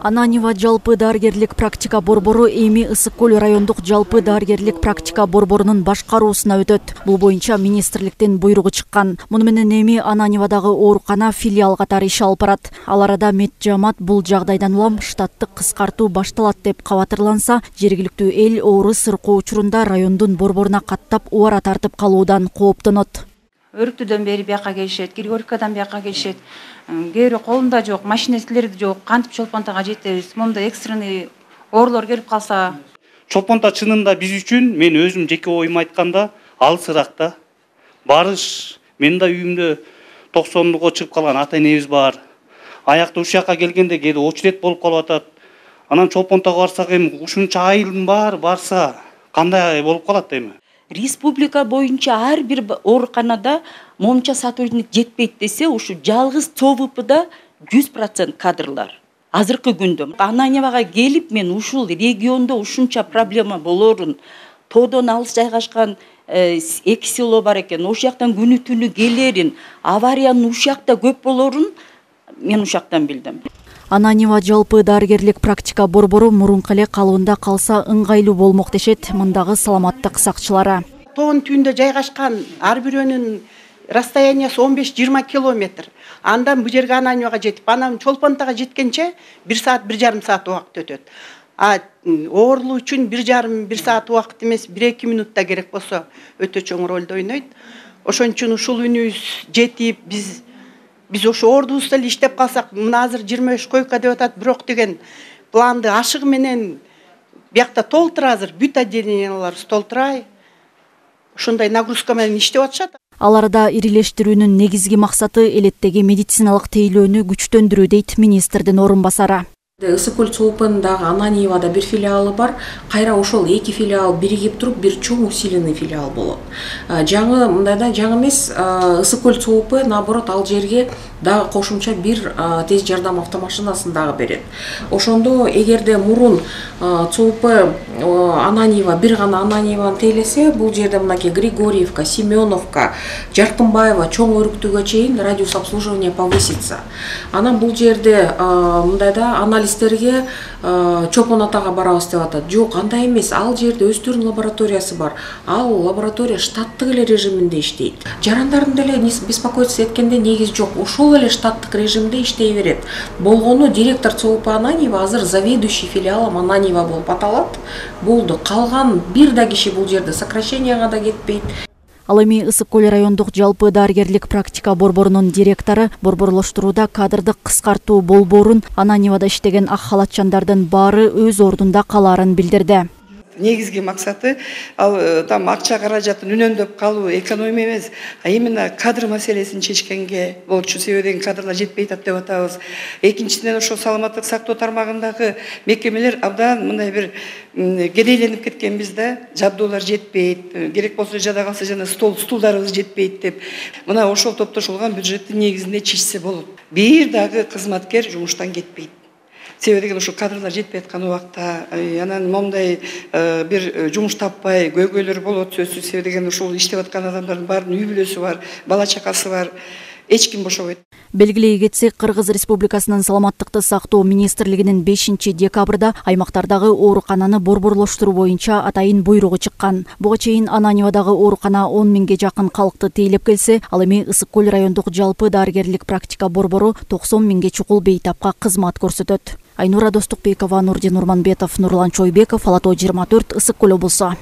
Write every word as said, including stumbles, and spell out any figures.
Ананьева жалпы дарыгерлик практика борбору эми Ысык көл райондук жалпы дарыгерлик практика борборунун башкаруусуна өтөт. Бул боюнча министрликтен буйругу чыккан. Муну менен эми Ананьевадагы оорукана филиал катары иш алып барат. Ал арада Меджамат бул жагдайдан улам штаттык кыскартуу башталат деп кабатырланса, жергиликтүү эл оору сыркоо учурунда райондун борборуна каттап убара тартып калуудан кооптонот. Өрүктүдөн бери бияка келишет, Григорьевкадан бияка келишет. Кээ бирөө колунда жок, машинелери жок, кантип Чолпонтага жетебиз? Момунда экстренный оорулор келип калса. Чолпонта чынында биз үчүн, мен өзүм жеке оюм айтканда, алысыраак да. Барыш, мен да үйүмдө токсондуго чыгып калган ата энебиз бар. Аякта ушул жака келгенде кээде очерет болуп калып атат. Анан Чолпонтага барсак эми ушунча айылдын баары барса, кандай болуп калат эми? Республика боюнча ар бир ооруканада момча сотрудник жетпейт десе, ушу жалгыз ЦОВПда жүз процент кадрлар. Азыркы күндө Ананьевага келип, мен ушул региондо ушунча проблема болорун, тоодон алыс жайгашкан эки село бар экен, ошол жактан күнү түнү келерин, авариянын ушул жакта көп болорун мен ушул жактан билдим. Ананьева жалпы дарыгерлик практика борбору мурунку эле калыбында калса ыңгайлуу болмок дешет мындагы саламаттык сакчылары. Тоон түндө жайгашкан ар бирөөнүн расстояниясы он беш жыйырма километр. Андан бу жерге Ананьевага жетип, анан Чолпонтага жеткенче бир саат, бир жарым саат убакыт өтөт. А оорулуу үчүн бир жарым, бир саат убакыт эмес, бир эки минутта керек болсо өтө чоң ролду ойнойт. Ошон үчүн ушул үнүбүз жетип, биз Биз ошо ордубузда эле иштеп калсак, мына азыр жыйырма беш койка деп атат, бирок деген планды ашыгы менен биякта толтур азыр бүт отделенияларыбыз толтурай. Ошондой нагрузка менен иштеп атышат. Ал арада ирилештирүүнүн негизги максаты элеттеги медициналык тейлөөнү күчтөндүрүү дейт министрдин орун басары. Ысык көл ЦОВПындагы Ананьевада бир филиалы бар. Кайра ошол эки филиал биригип туруп бир чоң усиленный филиал болот. Жаңы мындайда жаңы эмес, Ысык көл ЦОВП наоборот ал жерге дагы кошумча бир тез жардам автомашинасын дагы берет. Ошондо эгерде мурун ЦОВП Ананьева бир гана Ананьеваны тейлесе, бул жерде мынакей Григорьевка, Семеновка, Жаркынбаева чоң өрүктүгө чейин радиус обслуживания повысится. Анан бул жерде мындайда анализ Стерге Чолпон атага барабыз деп атат. Жок, андай эмес. Ал жерде өздөрүнүн лабораториясы бар. Ал лаборатория штаттык эле режиминде иштейт. Жарандардын деле беспокоиться эткенде негиз жок. Ошол эле штаттык режимде иштей берет. Болгону директор ЦОВП Ананьева азыр заведующий филиалом Ананьева болуп аталат. Болду. Калган бир да киши бул жерде сокращенияга да кетпейт. Ал эми Ысык көл райондук жалпы дарыгерлик практика борборунун директору борборлоштурууда кадрдык кыскартуу болбоорун, Ананьевада иштеген ак халатчандардын баары өз ордунда калаарын билдирди. Негизги максаты ал там акча каражатын үнөндөп калуу, экономия эмес, а именно кадр маселесин чечкенге болчу. Себеби кадрлар жетпей атат деп атабыз. Экинчиден ошо саламаттык сактоо тармагындагы мекемелер абдан мындай бир кедейленип кеткенбиз да, жабдуулар жетпейт, керек болсо жада калса жана стол стулдарыбыз жетпейт деп. Мына ошол топтошулган бюджеттин негизинде чечсе болот. Бир дагы кызматкер жумуштан кетпейт. Себеби ушу кадрлар жетпей аткан убакта, анан момундай бир жумуш таппай көйгөйлөр болот сөзсүз. Себеби ушул иштеп аткан адамдардын баарынын үй бүлөсү бар, бала чакасы бар. Эч ким бошобойт. Белгилей кетсек, Кыргыз Республикасынын саламаттыкты сактоо министрлигинин бешинчи декабрда аймактардагы оорукананы борборлоштуруу боюнча атайын буйругу чыккан. Буга чейин Ананьевадагы оорукана он миңге жакын калкты тейлеп келсе, ал эми Ысык көл райондук жалпы дарыгерлик практика борбору токсон миңге чукул бейтапка кызмат көрсөтөт. Айнура Достукбекова, Нурдин Урманбетов, Нурлан Чойбеков, Ала тоо жыйырма төрт, Ысык көл облусу.